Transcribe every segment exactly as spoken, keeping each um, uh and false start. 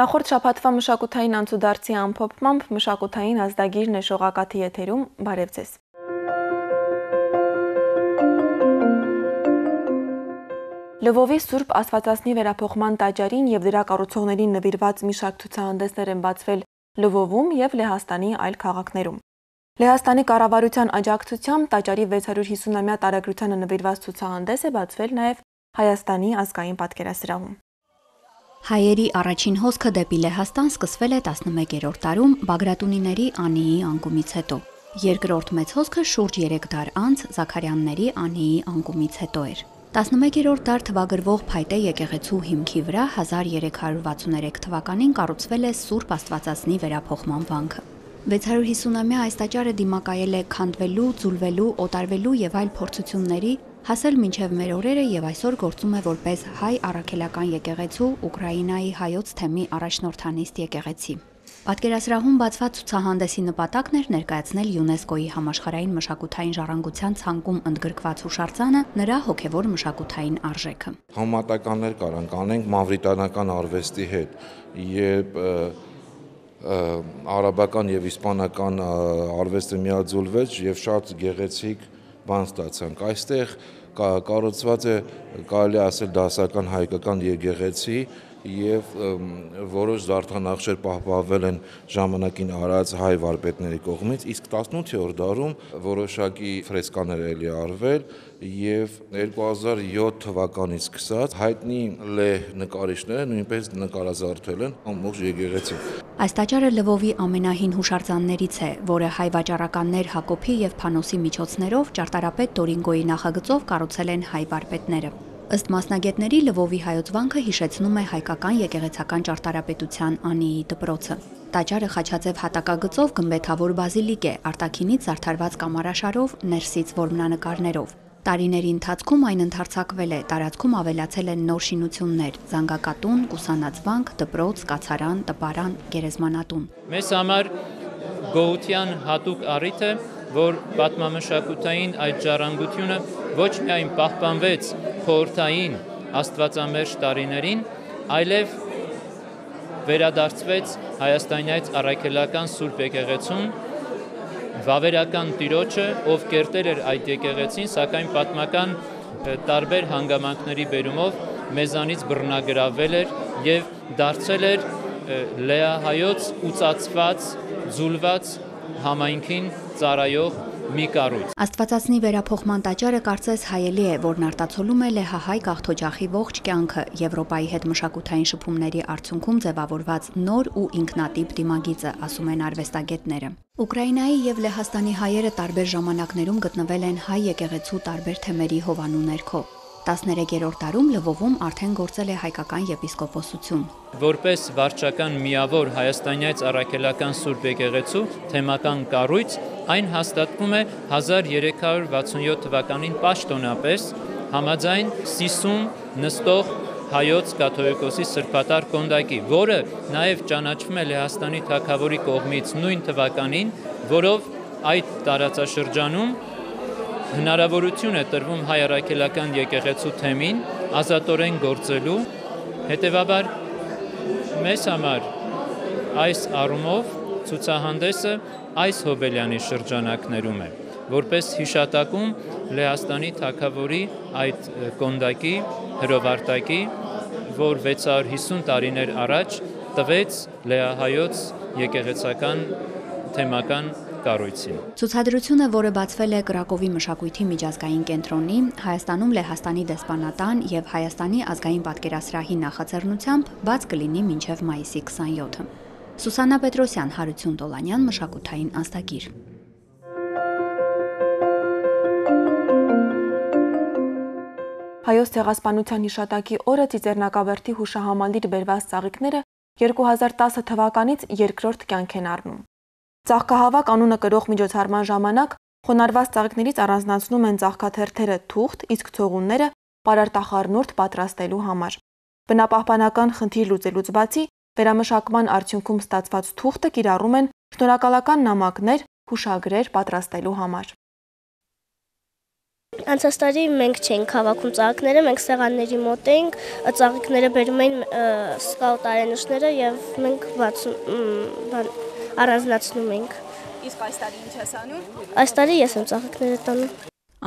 Նախորդ շաբաթվա մշակութային անցուդարձի ամփոփմամբ մշակութային ազդագիրն է շողակաթի եթերում, բարև ձեզ։ Լվովի Սուրբ Աստվածածնի վերափոխման տաճարին եւ դրա կառուցողներին նվիրված մի շարք ցուցահանդեսներ են բացվել Լվովում եւ Լեհաստանի այլ քաղաքներում։ Լեհաստանի կառավարության աջակցությամբ տաճարի վեց հարյուր հիսունամյա տարեգրությանը նվիրված ցուցահանդես է բացվել նաեւ Հայաստանի ազգային պատկերասրահում։ Հայերի առաջին հոսքը դեպի Լեհաստան սկսվել է տասնմեկերորդ դարում Բագրատունիների Անիի անկումից հետո։ Երկրորդ մեծ հոսքը շուրջ երեք դար անց Զաքարյանների Անիի անկումից հետո էր։ տասնմեկերորդ դար թվագրվող Փայտե եկեղեցու հիմքի վրա հազար երեք հարյուր վաթսուններեք թվականին կառուցվել է Սուրբ Աստվածածնի վերափոխման վանքը։ վեց հարյուր հիսունամյա այս տաճարը դիմակայել է քանդվելու, ձուլվելու, օտարվելու եւ այլ փորձությունների, հասել մինչև մեր օրերը եւ այսօր գործում է որպես հայ առաքելական եկեղեցու Ուկրաինայի հայոց թեմի առաջնորդանիստ եկեղեցի։ Պատկերասրահում բացված ցուցահանդեսի նպատակն էր ներկայացնել ՅՈՒՆԵՍԿՕ-ի համաշխարհային մշակութային ժառանգության ցանկում ընդգրկված հուշարձանը նրա հոգևոր մշակութային արժեքը։ Համատականներ կարանք անենք մավրիտանական արվեստի հետ, երբ արաբական եւ իսպանական արվեստը միաձուլվեց եւ շատ գեղեցիկ բան ստացանք։ Այստեղ կառուցված է, կարելի ասել, դասական հայկական եկեղեցի եւ որոշ զարդանախշեր պահպանվել են ժամանակին արած հայ վարպետների կողմից, իսկ տասնութերորդ դարում որոշակի ֆրեսկաներ էլի արվել եւ երկու հազար յոթ թվականից սկսած հայտնի լեհ նկարիչները նույնպես նկարազարդել են ամբողջ եկեղեցին։ Այս տաճարը Լվովի ամենահին հուշարձաններից է, որը հայ վաճառականներ Հակոբի եւ Փանոսի միջոցներով ճարտարապետ Տորինգոյի նախագծով կառուցել են հայ վարպետները։ Ըստ մասնագետների Լվովի հայոց վանքը հիշեցնում է հայկական եկեղեցական ճարտարապետության Անիի դպրոցը։ Տաճարը խաչաձև հատակագծով գմբեթավոր բազիլիկ է, արտաքինից զարդարված կամարաշարով, ներսից որմնանկարներով։ Տարիների ընթացքում այն ընդարձակվել է, տարածքում ավելացել են նոր շինություններ՝ զանգակատուն, կուսանածվանք, դպրոց, կացարան, տպարան, գերեզմանատուն։ Մեզ համար գոհության հատուկ առիթ է, որ պատմամշակութային այդ ժառանգությունը ոչ միայն պահպանվեց խորհրդային աստվածամերժ տարիներին, այլև վերադարձվեց հայաստանյաց առաքելական Սուրբ եկեղեցուն, վավերական տիրոջը, ով կերտել էր այդ եկեղեցին, սակայն պատմական տարբեր հանգամանքների բերումով մեզանից բռնագրավել էր եւ դարձել էր լեահայոց ուծացված, ձուլված համայնքին ծառայող մի կառույց։ Աստվածածնի վերափոխման տաճարը կարծես հայելի է, որն արտացոլում է լեհահայ գաղթօջախի ողջ կյանքը, Եվրոպայի հետ մշակութային շփումների արդյունքում ձևավորված նոր ու ինքնատիպ դիմագիծը, ասում են արվեստագետները։ Ուկրաինայի եւ Լեհաստանի հայերը տարբեր ժամանակներում գտնվել են հայ եկեղեցու տարբեր թեմերի հովանու ներքո։ տասներեքերորդ դարում Լվովում արդեն գործել է հայկական եպիսկոպոսություն։ Որպես վարչական միավոր հայաստանյաց առաքելական Սուրբ եկեղեցու թեմական կառույց, այն հաստատվում է հազար երեք հարյուր վաթսունյոթ թվականին պաշտոնապես համաձայն Սիսում նստող հայոց կաթողիկոսի սրբատար կոնդակի, որը նաև ճանաչվում է Լեհաստանի թագավորի կողմից նույն թվականին, որով այդ տարածաշրջանում հնարավորություն է տրվում հայ առաքելական եկեղեցու թեմին ազատորեն գործելու, հետևաբար մեզ համար այս առումով ցուցահանդեսը այս հոբելյանի շրջանակներում է, որպես հիշատակում Լեհաստանի թագավորի այդ կոնդակի, հրովարտակի, որ վեց հարյուր հիսուն տարիներ առաջ տվեց լեահայոց եկեղեցական թեմական կառույցին։ Ցուցադրությունը, որը բացվել է Կրակովի մշակույթի միջազգային կենտրոնի, Հայաստանում Լեհաստանի դեսպանատան եւ Հայաստանի ազգային պատկերասրահի նախաձեռնությամբ, բաց կլինի մինչեւ մայիսի քսանյոթը։ Սուսաննա Պետրոսյան, Հարություն Տոլանյան, մշակութային ազդագիր։ Հայոց ցեղասպանության հիշատակի օրը Ծիծեռնակաբերդի հուշահամալիր բերված ծաղիկները երկու հազար տասը թվականից երկրորդ կյանք են առնում։ Ծաղկահավաք անունը կրող միջոցառման ժամանակ խոնարհված ծաղիկներից առանձնացնում են ծաղկաթերթերը թուղթ, իսկ ցողունները պարարտախառնուրդ պատրաստելու համար։ Բնապահպանական խնդիր լուծելուց բացի վերամշակման արդյունքում ստացված թուղթը կիրառում են շնորհակալական նամակներ, հուշագրեր պատրաստելու համար։ Անցած տարի մենք չենք հավաքում ծաղիկները, մենք սեղանների մոտ էինք, ծաղիկները բերում էին սկաուտ արենուշները եւ մենք առանձնացնում էինք։ Իսկ այս տարի ինչ ես անում։ Այս տարի ես եմ ծաղիկները տանում։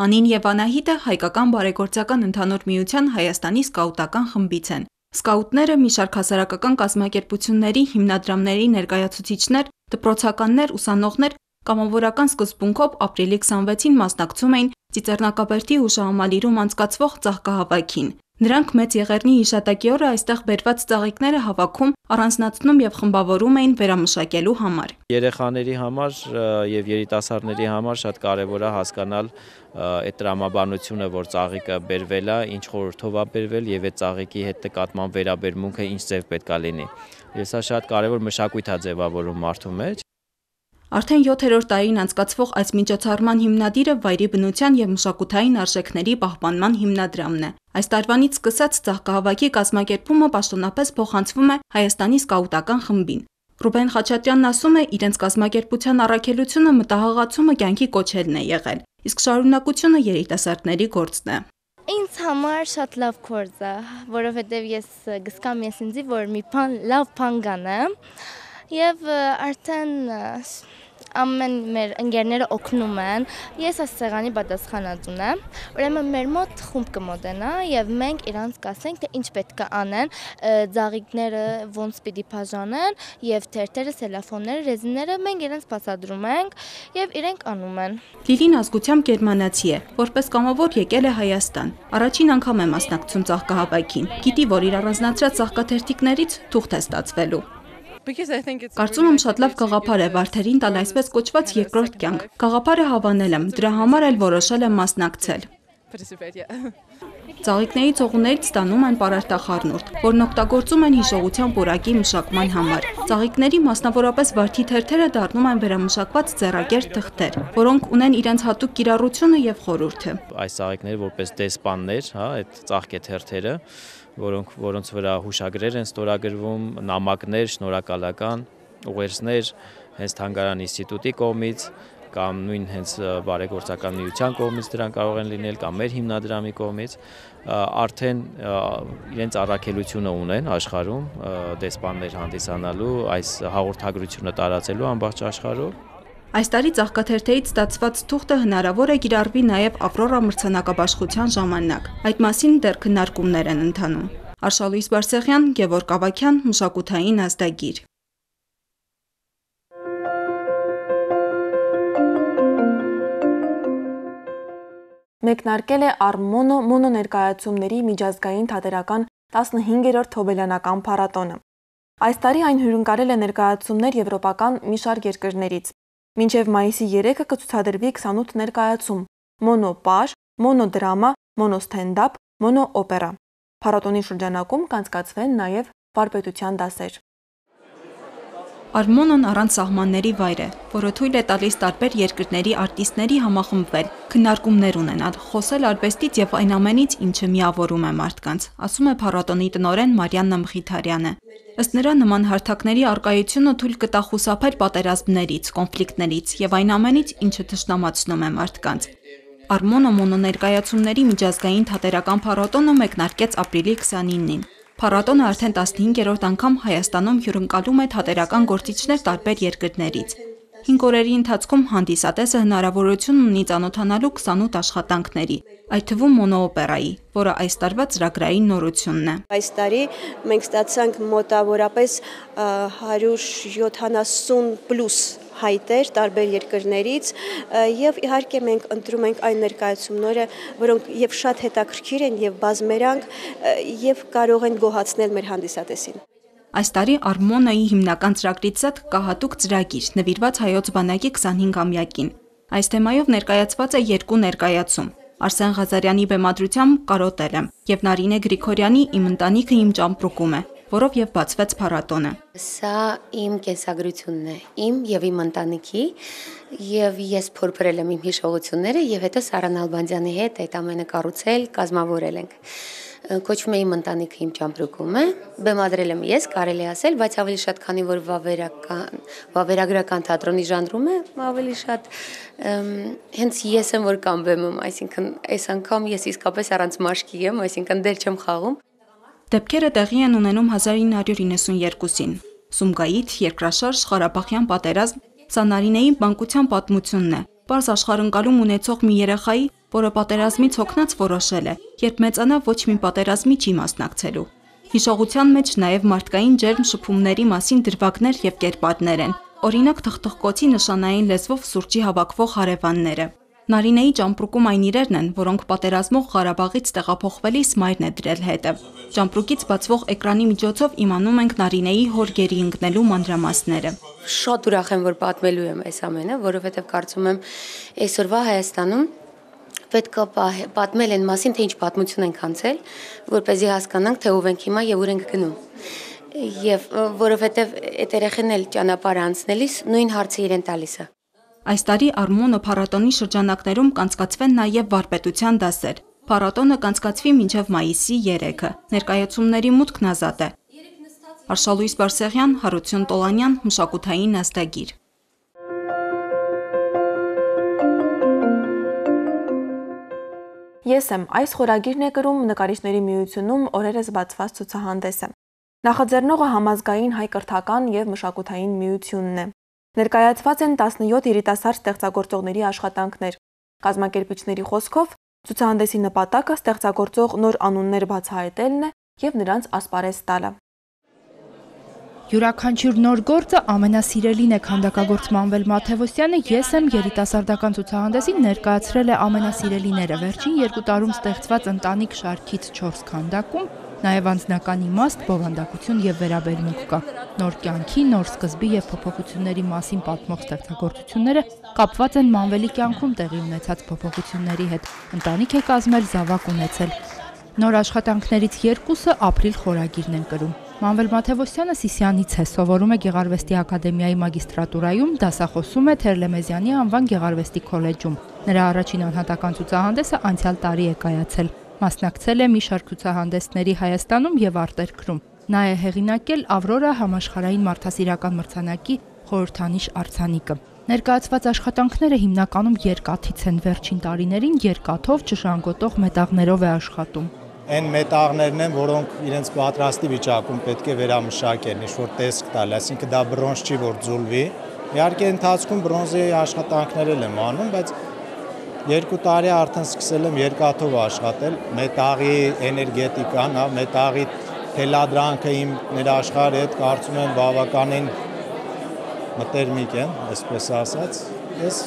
Անին եւ Անահիտը հայկական բարեգործական ընդհանուր միության Հայաստանի սկաուտական խմբից են։ Սկաուտները մի շարք հասարակական կազմակերպությունների, հիմնադրամների ներկայացուցիչներ, դպրոցականներ, ուսանողներ կամավորական սկզբունքով ապրիլի քսանվեցին մասնակցում էին Ծիծեռնակաբերդի հուշահամալիրում անցկացվող ծաղկահավաքին։ Նրանք Մեծ Եղեռնի հիշատակի օրը այստեղ բերված ծաղիկները հավաքում, առանձնացնում եւ խմբավորում էին վերամշակելու համար։ Երեխաների համար եւ երիտասարդների համար շատ կարեւոր է հասկանալ այդ տրամաբանությունը, որ ծաղիկը բերվել է, ինչ խորհրդով է բերվել եւ այդ ծաղիկի հետ նկատմամբ վերաբերմունքը ինչ ձև պետք է լինի։ Ես սա շատ կարեւոր մշակույթ է ձևավորում մարդու մեջ։ Արդեն յոթերորդ տարին անցկացվող այս միջոցառման հիմնադիրը վայրի բնության եւ մշակութային արժեքների պահպանման հիմնադրամն է։ Այս տարվանից սկսած ծաղկահավաքի կազմակերպումը պաշտոնապես փոխանցվում է Հայաստանի սկաուտական խմբին։ Ռուբեն Խաչատրյանն ասում է, իրենց կազմակերպության առաքելությունը մտահղացումը կյանքի կոչելն է եղել, իսկ շարունակությունը երիտասարդների գործն է։ Ինձ համար շատ լավ գործ է, որովհետեւ ես գսկամ ես ինձի, որ մի բան լավ բան կանեմ եւ արդեն ամեն մեր ընկերները օգնում են, ես այս սեղանի պատասխանատուն եմ, ուրեմն մեր մոտ խումբ կմոտենա եւ մենք իրանց կասենք, թե ինչ պետք է անեն, ծաղիկները ոնց պիտի բաժանեն եւ թերթերը, սելոֆոնները, ռեզինները մենք իրանց բացատրում ենք եւ իրենք անում են։ Լիլին ազգությամբ գերմանացի է, որպես կամավոր եկել է Հայաստան։ Առաջին անգամ է մասնակցում ծաղկահավաքին։ Գիտի, որ իր առանձնացրած ծաղկաթերթիկներից թուղթ է ստացվելու։ Կարծում եմ շատ լավ գաղափար է Վարդերին տալ այսպես կոչված երկրորդ կյանք։ Գաղափարը հավանել եմ, դրա համար էլ որոշել եմ մասնակցել։ Ծաղիկների ծողուններից ստանում են պարարտախառնուրդ, որն օգտագործում են հիշողության պուրակի մշակման համար։ Ծաղիկների, մասնավորապես վարդի թերթերը դառնում են վերամշակված ձեռագեր թղթեր, որոնք ունեն իրենց հատուկ կիրառությունը եւ խորհուրդը։ Այս ծաղիկները որպես դեսպաններ, հա, այդ ծաղկեթերթերը, որոնք որոնց վրա հուշագրեր են ստորագրվում, նամակներ, շնորհակալական ուղերձներ հենց Թանգարան ինստիտուտի կողմից կամ նույն հենց բարեգործական միության կողմից դրան կարող են լինել կամ մեր հիմնադրամի կողմից արդեն իրենց առաքելությունը ունեն աշխարհում դեսպաններ հանդիսանալու, այս հաղորդագրությունը տարածելու ամբողջ աշխարհում։ Այս տարի ծաղկաթերթերից ստացված թուղթը հնարավոր է կիրառվի նաև Ավրորա մրցանակաբաշխության ժամանակ։ Այդ մասին դեռ քննարկումներ են ընթանում։ Արշալույս Բարսեղյան, Գևորգ Ավագյան, մշակութային ազդագիր։ Մեկնարկել է Արմոնո մոնո ներկայացումների միջազգային թատերական տասնհինգերորդ Թոբելյանական փառատոնը։ Այս տարի այն հյուրընկալել է ներկայացումներ եվրոպական մի շարք երկրներից։ Մինչև մայիսի երեքը կցուցադրվի քսանութ ներկայացում՝ մոնո պաժ, մոնո դրամա, մոնո ստենդափ, մոնո օպերա։ Փառատոնի շրջանակում կանցկացվեն նաև վարպետության դասեր։ Արմոնոն առանց սահմանների վայր է, որը թույլ է տալիս տարբեր երկրների արտիստների համախմբվել, քննարկումներ ունենալ, խոսել արվեստից եւ այն ամենից, ինչը միավորում է մարդկանց, ասում է փառատոնի տնօրեն Մարիաննա Մխիթարյանը։ Ըստ նրա, նման հարթակների առկայությունը թույլ կտա խուսափել պատերազմներից, կոնֆլիկտներից եւ այն ամենից, ինչը թշնամացնում է մարդկանց։ Արմոնո մոնո ներկայացումների միջազգային թատերական փառատոնը մեկնարկեց ապրիլի քսանինին։ Փառատոնը արդեն տասնհինգերորդ անգամ Հայաստանում հյուրընկալում է թատերական գործիչներ տարբեր երկրներից։ Հինգ օրերի ընթացքում հանդիսատեսը հնարավորություն ունի ծանոթանալու քսանութ աշխատանքների, այդ թվում մոնոօպերայի, որը այս տարվա ծրագրային նորությունն է։ Այս տարի մենք ստացանք մոտավորապես հարյուր յոթանասուն պլյուս հայտեր տարբեր երկրներից եւ իհարկե մենք ընտրում ենք այն ներկայացումները, որոնք եւ շատ հետաքրքիր են եւ բազմերանգ եւ կարող են գոհացնել մեր հանդիսատեսին։ Այս տարի Արմոնոյի հիմնական ծրագրից զատ կա հատուկ ծրագիր նվիրված հայոց բանակի քսանհինգամյակին։ Այս թեմայով ներկայացված է երկու ներկայացում՝ Արսեն Ղազարյանի բեմադրությամբ «Կարոտել եմ» եւ Նարինե Գրիգորյանի «Իմ ընտանիքը իմ ճամպրուկում է», որով եւ բացվեց փառատոնը։ Սա իմ կենսագրությունն է, իմ եւ իմ ընտանիքի, եւ ես փորփրել եմ իմ հիշողությունները եւ հետո Սարան Ալբանդյանի հետ այդ ամենը կառուցել, կազմավորել ենք։ կոչվում է Իմ ընտանիքը իմ ճամպրուկում է, բեմադրել եմ ես, կարելի ասել, բայց ավելի շատ քանի որ վավերական, վավերագրական թատրոնի ժանրում է, ավելի շատ հենց ես եմ որ կամ բեմում, այսինքն այս անգամ ես իսկապես առանց մաշկի եմ, այսինքն դեր չեմ խաղում։ Դեպքերը տեղի են ունենում հազար ինը հարյուր իննսունյերկուսին։ Սումգայիթ, երկրաշարժ, Ղարաբաղյան պատերազմ, սա Նարինեի մանկության պատմությունն է։ Պարզ աշխարհընկալում ունեցող մի երեխայի, որը պատերազմից հոգնած որոշել է, երբ մեծանա ոչ մի պատերազմի չի մասնակցելու։ Հիշողության մեջ նաև մարդկային ջերմ շփումների մասին դրվագներ եւ կերպարներ են, օրինակ թխթխկոցի նշանային լեզվով սուրճի հավաքվող հարևանները։ Նարինեի ճամպրուկում այն իրերն են, որոնք պատերազմող Ղարաբաղից տեղափոխվելիս մայրն է դրել հետը։ Ճամպրուկից բացվող էկրանի միջոցով իմանում ենք Նարինեի հոր գերի ընկնելու մանրամասները։ Շատ ուրախ եմ, որ պատմելու եմ այս ամենը, որովհետև կարծում եմ այսօրվա Հայաստանում պետք է պատմել են մասին, թե ինչ պատմություն ենք անցել, որպեսզի հասկանանք, թե ով ենք հիմա եւ ուր ենք գնում։ Եվ որովհետև այդ երեխեն էլ ճանապարհ անցնելիս նույն հարցը իրեն տալիս է։ Այս տարի Արմոնը փառատոնի շրջանակներում կանցկացվեն նաև վարպետության դասեր։ Փառատոնը կանցկացվի մինչև մայիսի երեքը։ Ներկայացումների մուտքն ազատ է։ Արշալույս Բարսեղյան, Հարություն Տոլանյան, Մշակութային ազդագիր։ Ես եմ այս խորագիրն է կրում նկարիչների միությունում օրերս բացված ցուցահանդեսը։ Նախաձեռնողը համազգային հայ կրթական եւ մշակութային միությունն է։ Ներկայացված են տասնյոթ երիտասարդ ստեղծագործողների աշխատանքներ։ Կազմակերպիչների խոսքով ցուցահանդեսի նպատակը ստեղծագործող նոր անուններ բացահայտելն է եւ նրանց ասպարեզ տալը։ Յուրաքանչյուր նոր գործը ամենասիրելին է քանդակագործ Մանվել Մաթևոսյանը «Ես եմ» երիտասարդական ցուցահանդեսին ներկայացրել է ամենասիրելիները վերջին երկու տարում ստեղծված ընտանիք շարքից չորս քանդակում, նաև անձնական իմաստ, բովանդակություն եւ վերաբերմունք կա։ Նոր կյանքի, նոր սկզբի եւ փոփոխությունների մասին պատմող ստեղծագործությունները կապված են Մանվելի կյանքում տեղի ունեցած փոփոխությունների հետ։ Ընտանիք է կազմել, զավակ ունեցել։ Նոր աշխատանքներից երկուսը ապրիլ խորագիրն են կրում։ Մանվել Մաթևոսյանը Սիսիանից է, սովորում է Գեղարվեստի ակադեմիայի մագիստրատուրայում, դասախոսում է Թերլեմեզյանի անվան Գեղարվեստի քոլեջում։ Նրա առաջին անհատական ցուցահանդեսը անցյալ տարի է կայացել։ Մասնակցել է մի շարք ցուցահանդեսների Հայաստանում եւ արտերկրում։ Նա է հեղինակել Ավրորա համաշխարհային մարդասիրական մրցանակի խորհրդանիշ արձանիկը։ Ներկայացված աշխատանքները հիմնականում երկաթից են, վերջին տարիներին երկաթով չժանգոտող մետաղներով է աշխատում։ Այն մետաղներն են, որոնք իրենց պատրաստի վիճակում պետք է վերամշակեն, ինչ-որ տեսք տալ, այսինքն դա բրոնզ չի, որ ձուլվի։ Իհարկե ընթացքում բրոնզի աշխատանքներ եմ անում, բայց երկու տարի արդեն սկսել եմ երկաթով աշխատել, մետաղի էներգետիկան, մետաղի թելադրանքը իմ ներաշխարհի հետ կարծում եմ բավականին մտերմիկ են, այսպես ասած, ես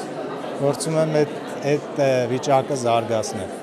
փորձում եմ այդ վիճակը զարգացնել։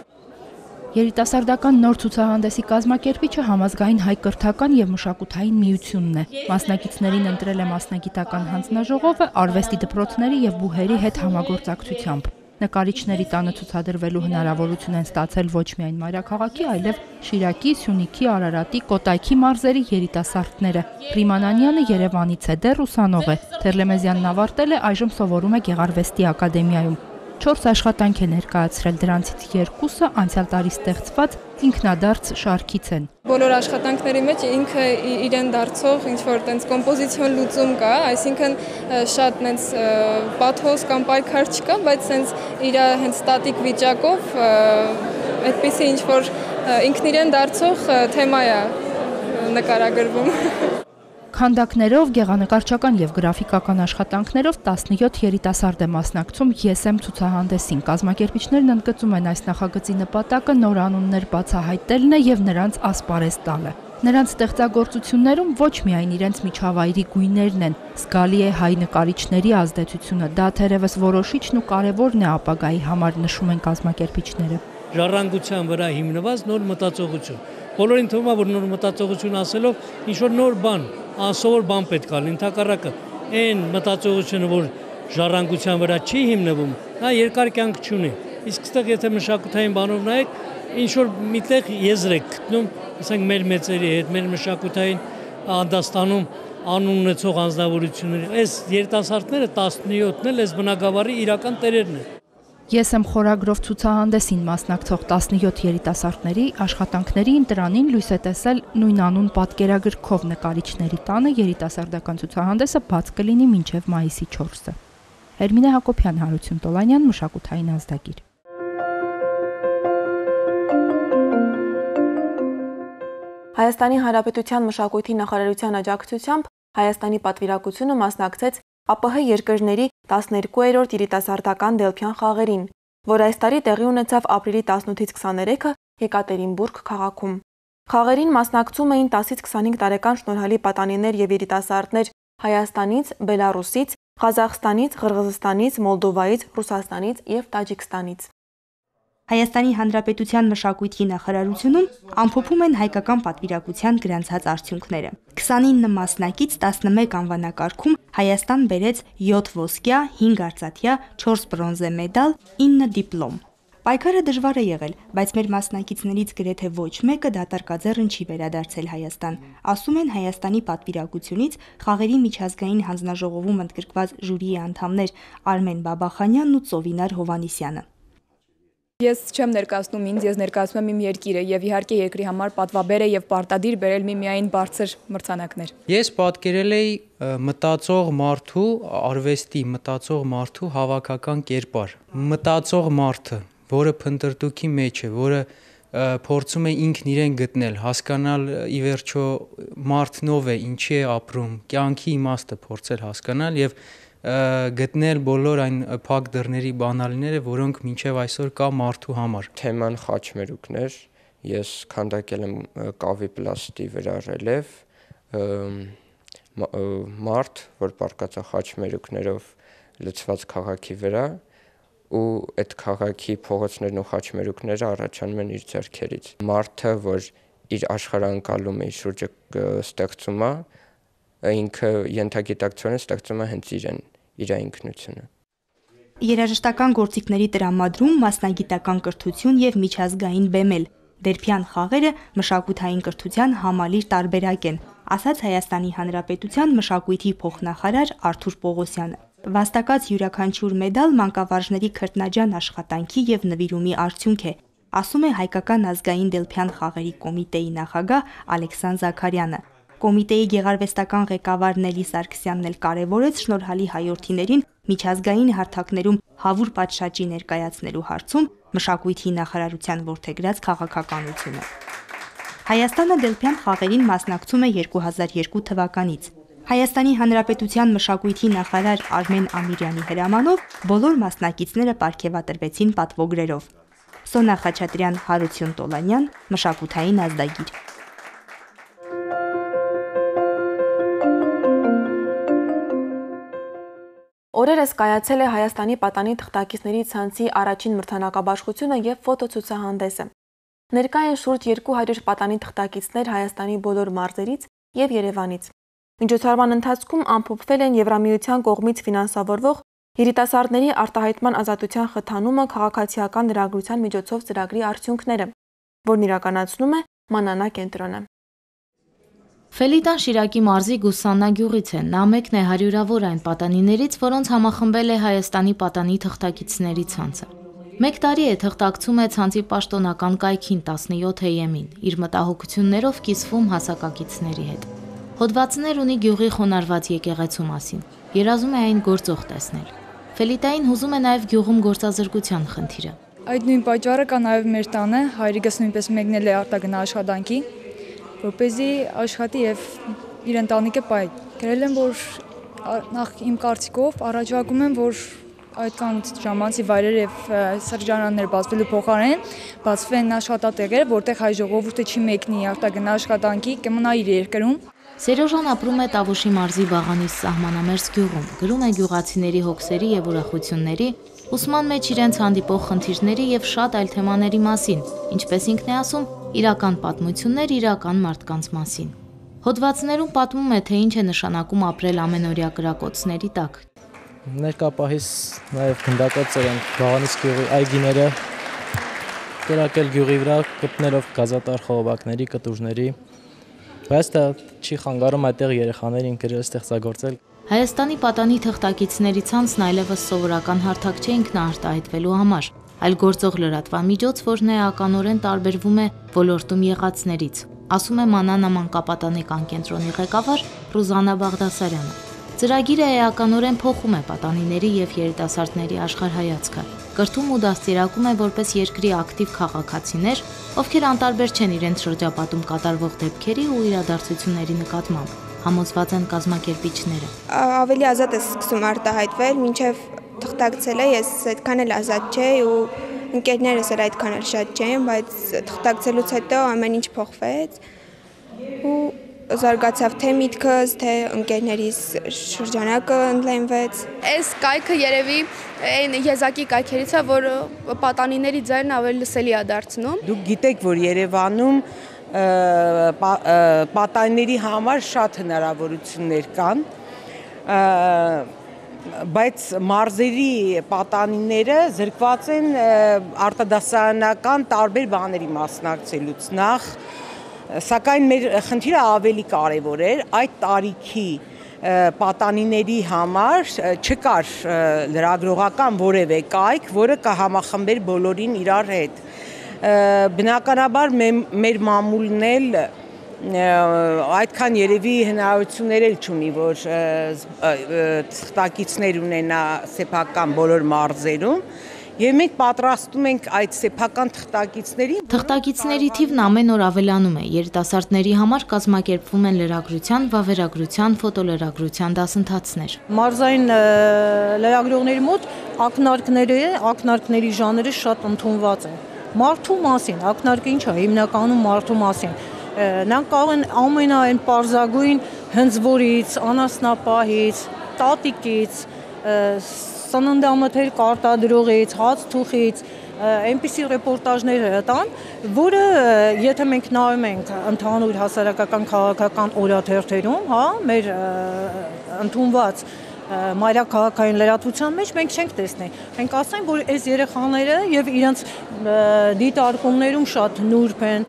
Երիտասարդական նոր ցուցահանդեսի կազմակերպիչը համազգային հայ կրթական եւ մշակութային միությունն է։ Մասնակիցներին ընտրել է մասնագիտական հանձնաժողովը արվեստի դպրոցների եւ բուհերի հետ համագործակցությամբ։ Նկարիչների տանը ցուցադրվելու հնարավորություն են ստացել ոչ միայն մայրաքաղաքի, այլև Շիրակի, Սյունիքի, Արարատի, Կոտայքի մարզերի երիտասարդները։ Ռիմանանյանը Երևանից է, դեռ ուսանող է։ Թերլեմեզյանն ավարտել է, այժմ սովորում է Գեղարվեստի ակադեմիայում։ Չորս աշխատանք է ներկայացրել, դրանցից երկուսը անցյալ տարի ստեղծված ինքնադարձ շարքից են։ Բոլոր աշխատանքների մեջ ինքը իրեն դարձող ինչ-որ տենց կոմպոզիցիոն լուծում կա, այսինքն շատ տենց պաթոս կամ պայքար չկա, բայց տենց իր հենց ստատիկ վիճակով այդպիսի ինչ-որ ինքն իրեն դարձող թեմա է նկարագրվում։ Քանդակներով, գեղանկարչական եւ գրաֆիկական աշխատանքներով տասնյոթ երիտասարդ է մասնակցում «Ես եմ» ցուցահանդեսին։ Կազմակերպիչներն ընդգծում են այս նախագծի նպատակը նոր անուններ բացահայտելն է եւ նրանց ասպարեզ տալը։ Նրանց ստեղծագործություններում ոչ միայն իրենց միջավայրի գույներն են, զգալի է հայ նկարիչների ազդեցությունը, դա թերևս որոշիչն ու կարևորն է ապագայի համար, նշում են կազմակերպիչները։ Ժառանգության վրա հիմնված նոր մտածողություն։ Բոլորին թվում է, որ նոր մտածողություն ասելով ինչ-որ նոր բան, անսովոր բան պետք է լինի, ընդհակառակը այն մտածողությունը, որ ժառանգության վրա չի հիմնվում, նա երկար կյանք չունի։ Իսկ այստեղ եթե մշակութային բանով նայեք, ինչ-որ միտեղ եզր եք գտնում, ասենք մեր մեծերի հետ, մեր մշակութային անդաստանում անուն ունեցող անձնավորությունների։ Այս երիտասարդները տասնյոթն էլ այս բնակավարի իրական տերերն են։ Ես եմ խորագրով ցուցահանդեսին մասնակցող տասնյոթ երիտասարդների աշխատանքների ընտրանին լույս է տեսել նույնանուն պատկերագրքով նկարիչների տանը երիտասարդական ցուցահանդեսը բաց կլինի մինչև մայիսի չորսը։ Էրմինե Հակոբյան, Հարություն Տոլանյան, մշակութային ազդագիր։ Հայաստանի Հանրապետության մշակույթի նախարարության աջակցությամբ Հայաստանի պատվիրակությունը մասնակցեց ԱՊՀ երկրների տասներկուերորդ երիտասարդական Դելփյան խաղերին, որ այս տարի տեղի ունեցավ ապրիլի տասնութից քսաներեքը Եկատերինբուրգ քաղաքում։ Խաղերին մասնակցում էին տասից քսանհինգ տարեկան շնորհալի պատանիներ եւ երիտասարդներ Հայաստանից, Բելարուսից, Ղազախստանից, Ղրղզստանից, Մոլդովայից, Ռուսաստանից եւ Տաջիկստանից։ Հայաստանի Հանրապետության մշակույթի նախարարությունում ամփոփում են հայկական պատվիրակության գրանցած արդյունքները։ քսանինը մասնակից տասնմեկ անվանակարգում Հայաստան բերեց յոթ ոսկյա, հինգ արծաթյա, չորս բրոնզե մեդալ, ինը դիպլոմ։ Պայքարը դժվար է եղել, բայց մեր մասնակիցներից գրեթե ոչ մեկը դատարկաձեռն չի վերադարձել Հայաստան, ասում են Հայաստանի պատվիրակությունից խաղերի միջազգային հանձնաժողովում ընդգրկված ժյուրիի անդամներ Արմեն Բաբախանյանն ու Ծովինար Հովանիսյանը։ Ես չեմ ներկայացնում ինձ, ես ներկայացնում եմ իմ երկիրը եւ իհարկե երկրի համար պատվաբեր է եւ պարտադիր բերել միմիայն բարձր մրցանակներ։ Ես պատկերել էի մտածող մարդու, արվեստի մտածող մարդու հավաքական կերպար։ Մտածող մարդը, որը փնտրտուքի մեջ է, որը փորձում է ինքն իրեն գտնել, հասկանալ ի վերջո մարդն ով է, ինչի է ապրում, կյանքի իմաստը փորձել հասկանալ եւ գտնել բոլոր այն փակ դռների բանալիները, որոնք մինչև այսօր կա մարդու համար։ Թեման խաչմերուկներ, ես քանդակել եմ կավի պլաստի վրա ռելիեֆ, մարդ, որ պառկած է խաչմերուկներով լցված քաղաքի վրա, ու այդ քաղաքի փողոցներն ու խաչմերուկները առաջանում են իր ձեռքերից։ Մարդը, որ իր աշխարհանկալում է, իր շուրջը ստեղծում է, ինքը ենթագիտակցորեն ստեղծում է հենց իրեն, իր ինքնությունը։ Երաժշտական գործիքների տրամադրում, մասնագիտական կրթություն եւ միջազգային բեմել։ Դերփյան խաղերը մշակութային կրթության համալիր տարբերակ են, ասաց Հայաստանի Հանրապետության մշակույթի փոխնախարար Արթուր Պողոսյանը։ Վաստակած յուրաքանչյուր մեդալ մանկավարժների քրտնաջան աշխատանքի եւ նվիրումի արդյունք է, ասում է Հայկական ազգային Դելփյան խաղերի կոմիտեի նախագահ Ալեքսան Զաքարյանը։ Կոմիտեի գեղարվեստական ղեկավար Նելի Սարգսյանն էլ կարևորեց շնորհալի հայորդիներին միջազգային հարթակներում հավուր պատշաճի ներկայացնելու հարցում մշակույթի նախարարության որդեգրած քաղաքականությունը։ Հայաստանը Դելփյան խաղերին մասնակցում է երկու հազար երկու թվականից։ Հայաստանի Հանրապետության մշակույթի նախարար Արմեն Ամիրյանի հրամանով բոլոր մասնակիցները պարգևատրվեցին պատվոգրերով։ Սոնա Խաչատրյան, Հարություն Տոլանյան, մշակութային ազդագիր։ Օրերս կայացել է Հայաստանի պատանի թղթակիցների ցանցի առաջին մրցանակաբաշխությունը եւ ֆոտոցուցահանդեսը։ Ներկա են շուրջ երկու հարյուր պատանի թղթակիցներ Հայաստանի բոլոր մարզերից եւ Երևանից։ Միջոցառման ընթացքում ամփոփվել են Եվրամիության կողմից ֆինանսավորվող երիտասարդների արտահայտման ազատության խթանումը քաղաքացիական լրագրության միջոցով ծրագրի արդյունքները, որն իրականացնում է Մանանա կենտրոնը։ Ֆելիտան Շիրակի մարզի Գուսաննա գյուղից է, նա մեկն է հարյուրավոր այն պատանիներից, որոնց համախմբել է Հայաստանի պատանի թղթակիցների ցանցը։ Մեկ տարի է թղթակցում է ցանցի պաշտոնական կայքին տասնյոթ էյ-ին, իր մտահոգություններով կիսվում հասակակիցների հետ։ Հոդվածներ ունի գյուղի խոնարհված եկեղեցու մասին, երազում է այն գործող տեսնել։ Ֆելիտային հուզում է նաև գյուղում գործազրկության խնդիրը։ Այդ նույն պատճառը կա նաև մեր տանը, հայրիկս նույնպես մեկնել է արտագնա աշխատանքի, որպեսզի աշխատի եւ իր ընտանիքը պահի։ Գրել եմ, որ նախ իմ կարծիքով առաջարկում եմ, որ այդքան ժամանցի վայրեր եւ սրճարաններ բացվելու փոխարեն բացվեն աշխատատեղեր, որտեղ հայ ժողովուրդը չի մեկնի արտագնա աշխատանքի, կմնա իր երկրում։ Սերոժան ապրում է Տավուշի մարզի Վաղանիս սահմանամերձ գյուղում, գրում է գյուղացիների հոգսերի եւ ուրախությունների, ուսման մեջ իրենց հանդիպող խնդիրների եւ շատ այլ թեմաների մասին, ինչպես ինքն է ասում, իրական պատմություններ իրական մարդկանց մասին։ Հոդվածներում պատմում է, թե ինչ է նշանակում ապրել ամենօրյա կրակոցների տակ։ Ներկապահիս նաև գնդակոծեր են Վաղանիս գյուղի այգիները, կրակել գյուղի վրա գտնելով գազատար խողովակների, կտուրների, բայց դա չի խանգարում այդտեղ երեխաներին գրել ստեղծագործել։ Հայաստանի պատանի թղթակիցների ցանցն այլևս սովորական հարթակ չէ ինքնաարտահայտվելու համար, այլ գործող լրատվամիջոց, որն էականորեն տարբերվում է ոլորտում եղածներից, ասում է Մանանա մանկապատանեկան կենտրոնի ղեկավար Ռուզաննա Բաղդասարյանը։ Ծրագիրը էականորեն փոխում է պատանիների եւ երիտասարդների աշխարհայացքը, կրթում ու դաստիարակում է որպես երկրի ակտիվ քաղաքացիներ, ովքեր անտարբեր չեն իրենց շրջապատում կատարվող դեպքերի ու իրադարձությունների նկատմամբ, համոզված են կազմակերպիչները։ Ավելի ազատ է սկսում արտահայտվել, մինչև թղթակցել է, ես այդքան էլ ազատ չէի ու ընկերներս էլ այդքան էլ շատ չէին, բայց թղթակցելուց հետո ամեն ինչ փոխվեց ու զարգացավ թե միտքս, թե ընկերներիս շրջանակը ընդլայնվեց։ Այս կայքը երևի այն եզակի կայքերից է, որ պատանիների ձայնն ավելի լսելի է դարձնում։ Դուք գիտեք, որ Երևանում պատանիների համար շատ հնարավորություններ կան, բայց մարզերի պատանիները զրկված են արտադասարանական տարբեր բաների մասնակցելուց նախ, սակայն մեր խնդիրը ավելի կարևոր էր, այդ տարիքի պատանիների համար չկար լրագրողական որևէ կայք, որը կհամախմբեր բոլորին իրար հետ։ Բնականաբար մեր մամուլն էլ այդքան երևի հնարավորություններ էլ չունի, որ թղթակիցներ ունենա սեփական բոլոր մարզերում, եւ մենք պատրաստում ենք այդ սեփական թղթակիցներին։ Թղթակիցների թիվն ամեն օր ավելանում է, երիտասարդների համար կազմակերպվում են լրագրության, վավերագրության, ֆոտոլրագրության դասընթացներ։ Մարզային լրագրողների մոտ ակնարկները, ակնարկների ժանրը շատ ընդունված են։ Մարդու մասին, ակնարկը ինչ է, հիմնականում մարդու մասին։ Նրանք կարող են ամենայն պարզագույն հնձվորից, անասնապահից, տատիկից, սննդամթերք արտադրողից, հաց թուխից, այնպիսի ռեպորտաժներ հրատան, որը եթե մենք նայում ենք ընդհանուր հասարակական քաղաքական օրաթերթերում, հա, մեր ընդունված մայրաքաղաքային լրատվության մեջ մենք չենք տեսնի։ Մենք ասենք, որ այս երեխաները եւ իրենց դիտարկումներում շատ նուրբ են։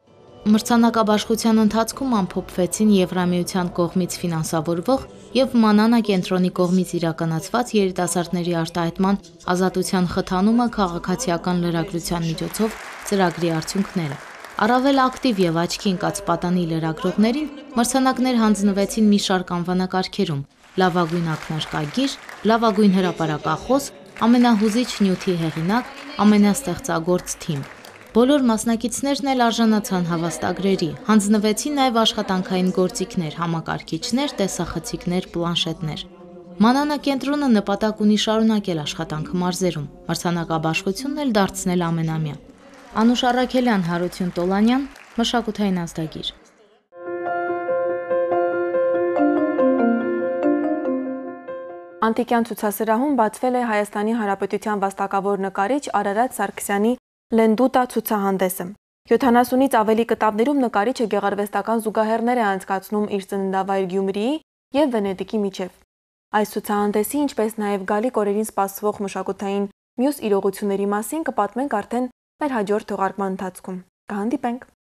Մրցանակաբաշխության ընթացքում ամփոփվեցին Եվրամիության կողմից ֆինանսավորվող եւ Մանանա կենտրոնի կողմից իրականացված երիտասարդների արտահայտման ազատության խթանումը քաղաքացիական լրագրության միջոցով ծրագրի արդյունքները։ Առավել ակտիվ եւ աչքի ընկած պատանի լրագրողներին մրցանակներ հանձնվեցին մի շարք անվանակարգերում՝ լավագույն ակնարկագիր, լավագույն հրապարակախոս, ամենահուզիչ նյութի հեղինակ, ամենաստեղծագործ թիմ։ Բոլոր մասնակիցներն էլ արժանացան հավաստագրերի, հանձնվեցին նաև աշխատանքային գործիքներ, համակարգիչներ, տեսախցիկներ, պլանշետներ։ Մանանա կենտրոնը նպատակ ունի շարունակել աշխատանքը մարզերում, մրցանակաբաշխությունն էլ դարձնել ամենամյա։ Անուշ Առաքելյան, Հարություն Տոլանյան, մշակութային ազդագիր։ Անտիկյան ցուցասրահում բացվել է Հայաստանի Հանրապետության վաստակավոր նկարիչ Արարատ Սարգսյանի Լենդուտա ցուցահանդեսը։ յոթանասունից ավելի կտավներում նկարիչը գեղարվեստական զուգահեռներ է անցկացնում իր ծննդավայր Գյումրիի եւ Վենետիկի միջև։ Այս ցուցահանդեսի, ինչպես նաեւ գալիք օրերին սպասվող մշակութային մյուս իրողությունների մասին կպատմենք արդեն մեր հաջորդ թողարկման ընթացքում։ Կհանդիպենք։